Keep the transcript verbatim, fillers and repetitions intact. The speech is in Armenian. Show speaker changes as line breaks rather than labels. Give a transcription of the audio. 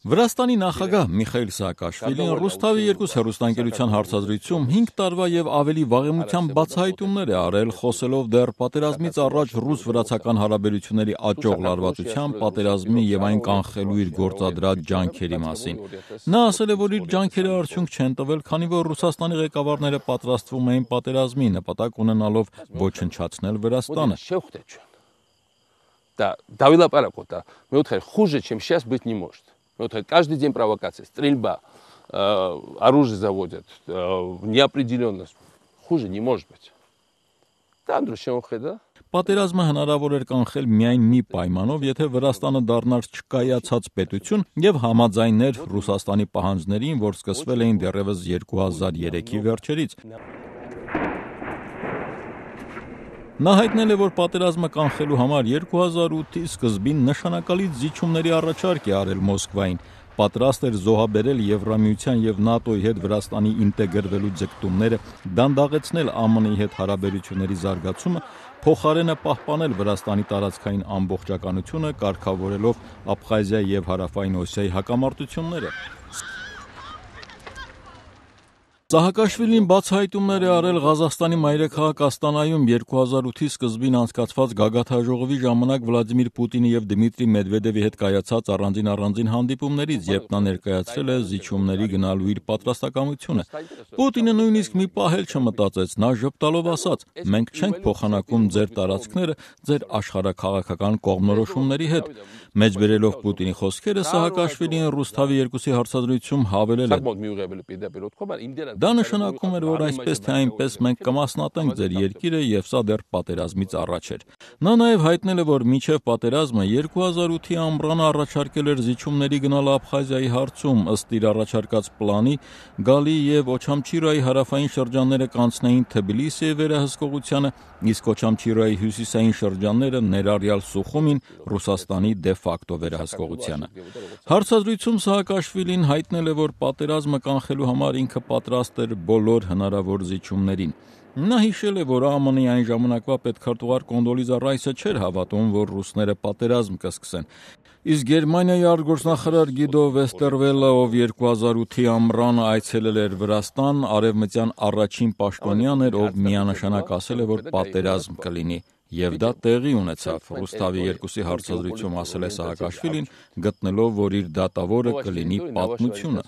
Վրաստանի նախագահ Միխայիլ Սաակաշվիլին Ռուսթավի երկու հեռուստաընկերության հարցազրույցում հինգ տարվա եւ ավելի վաղեմության բացահայտումներ է արել, խոսելով դեռ պատերազմից առաջ ռուս-վրացական հարաբերությունների աճող լարվածության, պատերազմի եւ այն կանխելու իր գործադրած ջանքերի մասին։ Նա ասել է, որ իր ջանքերը արդյունք չեն տվել, քանի որ Ռուսաստանի ղեկավարները պատրաստվում էին պատերազմի, նպատակ ունենալով ոչնչացնել Վրաստանը։
Да, Давила Паракота, мы вот хуже, чем сейчас быть не может. Вот каждый день провокация, стрельба, э, оружие заводят, э, неопределенность. Хуже не может быть. Да, Андрюшенко, да?
Պատերազմը հնարավոր էր կանխել միայն մի պայմանով, եթե Վրաստանը դառնար չկայացած պետություն եւ համաձայներ Ռուսաստանի պահանջներին, որ սկսվել էին դեռևս երկու հազար երեքի վերջերից։ Նա հայտնել է, որ պատերազմը կանխելու համար երկու հազար ութի սկզբին նշանակալից զիջումների առաջարկ է արել Մոսկվային, պատրաստ էր զոհաբերել Եվրամիության եւ ՆԱՏՕ-ի հետ Վրաստանի ինտեգրվելու ձգտումները, դանդաղեցնել ԱՄՆ-ի հետ հարաբերությունների զարգացումը, փոխարենը պահպանել Վրաստանի տարածքային ամբողջականությունը, կարգավորելով Աբխազիա եւ Հարավային Օսիայի հակամարտությունները։ Սահակաշվիլին բացահայտումներ է արել Ղազախստանի մայրաքաղաք Աստանայում երկու հազար ութի սկզբին անցկացված գագաթաժողովի ժամանակ Վլադիմիր Պուտինի եւ Դմիտրի Մեդվեդևի հետ կայացած առանձին-առանձին հանդիպումներից, երբ նա ներկայացրել է զիջումների գնալու իր պատրաստակամությունը։ Պուտինը նույնիսկ մի պահ էլ չմտածեց, նա ժպտալով ասաց. «Մենք չենք փոխանակում ձեր տարածքները ձեր աշխարհաքաղաքական կողմնորոշումների հետ»։ Մեջբերելով Պուտինի խոսքերը, Սահակաշվիլին Ռուսթավի երկուսի հարցազրույցում հավելել է. Դա նշանակում էր, որ այսպես թե այնպես մենք կմասնատենք ձեր երկիրը եւ սա դեռ պատերազմից առաջ էր։ Նա նաեւ հայտնել է, որ մինչեւ պատերազմը երկու հազար ութի ամռանը առաջարկել էր զիջումների գնալ Աբխազիայի հարցում, ըստ իր առաջարկած պլանի, Գալի եւ Օչամչիրայի հարավային շրջանները կանցնեին Թբիլիսիի վերահսկողությանը, իսկ Օչամչիրայի հյուսիսային շրջանները ներառյալ Սուխումին Ռուսաստանի դե ֆակտո վերահսկողությանը։ Հարցազրույցում Սահակաշվիլին հայտնել է, որ պատերազմը կանխելու համար ինքը պատրաստ էր բոլոր հնարավոր զիջումներին։ Նա հիշել է, որ ԱՄՆ-ի այն ժամանակվա պետքարտուղար Կոնդոլիզա Ռայսը չէր հավատում, որ ռուսները պատերազմ կսկսեն։ Իսկ Գերմանիայի արտգործնախարար Գիդո Վեստերվելը, ով երկու հազար ութի ամռանը այցելել էր Վրաստան, արևմտյան առաջին պաշտոնյան էր, ով միանշանակ ասել է, որ պատերազմ կլինի։ Եվ դա տեղի ունեցավ, Ռուսթավի երկուսի հարցազրույցում ասել է Սահակաշվիլին, գտնելով, որ իր դատավորը կլինի պատմությունը։